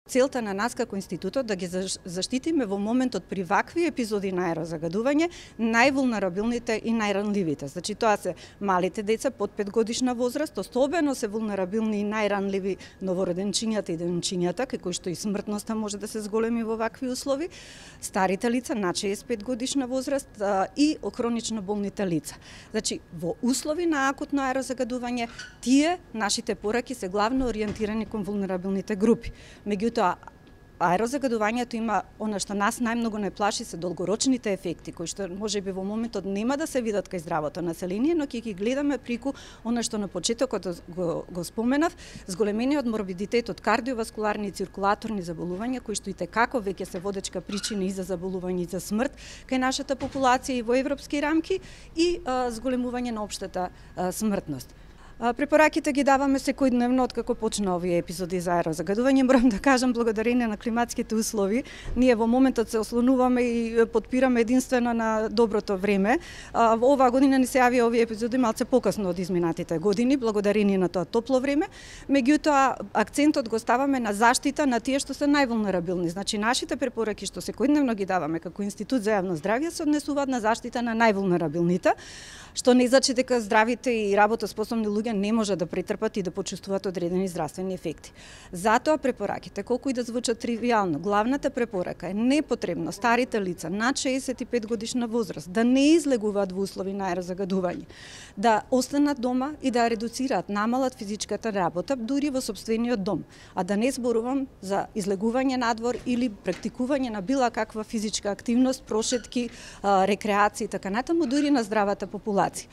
Целта на нас како институтот да ги заштитиме во моментот при вакви епизоди на аерозагадување највулнерабилните и најранливите. Значи тоа се малите деца под 5 годишна возраст, особено се вулнерабилни и најранливи новороденчињата и денчињата, кај кои што и смртноста може да се зголеми во вакви услови, старите лица над 65 годишна возраст и хронично болните лица. Значи во услови на акутно аерозагадување тие нашите пораки се главно ориентирани кон вулнерабилните групи. Меѓутоа, аерозагадувањето има она што нас најмногу не плаши се долгорочните ефекти, кои што можеби во моментот нема да се видат кај здравото население, но ќе ги гледаме прику она што на почетокот го споменав, зголемениот морбидитет од кардиоваскуларни и циркулаторни заболувања, кои што и текако веќе се водечка причина и за заболување и за смрт кај нашата популација и во европски рамки и зголемување на општата смртност. Препораките ги даваме секојдневно откако почна овие епизоди за аерозагадување. Морам да кажам, благодарение на климатските услови, ние во моментот се ослонуваме и подпираме единствено на доброто време. Оваа година ни се јавија овие епизоди малце покасно од изминатите години, благодарение на тоа топло време. Меѓутоа, акцентот го ставаме на заштита на тие што се највулнерабилни. Значи, нашите препораки што секојдневно ги даваме како Институт за јавно здравје се однесуваат на заштита на највулнерабилните, што не значи дека здравите и работоспособни луѓе не може да претрпат и да почувствуваат одредени здравствени ефекти. Затоа препораките, колку и да звучат тривијално, главната препорака е непотребно старите лица над 65 годишна возраст да не излегуваат во услови на аерозагадување, да останат дома и да редуцираат, намалат физичката работа дури во сопствениот дом, а да не зборувам за излегување надвор или практикување на била каква физичка активност, прошетки, рекреација и така натаму, дури на здравата популација.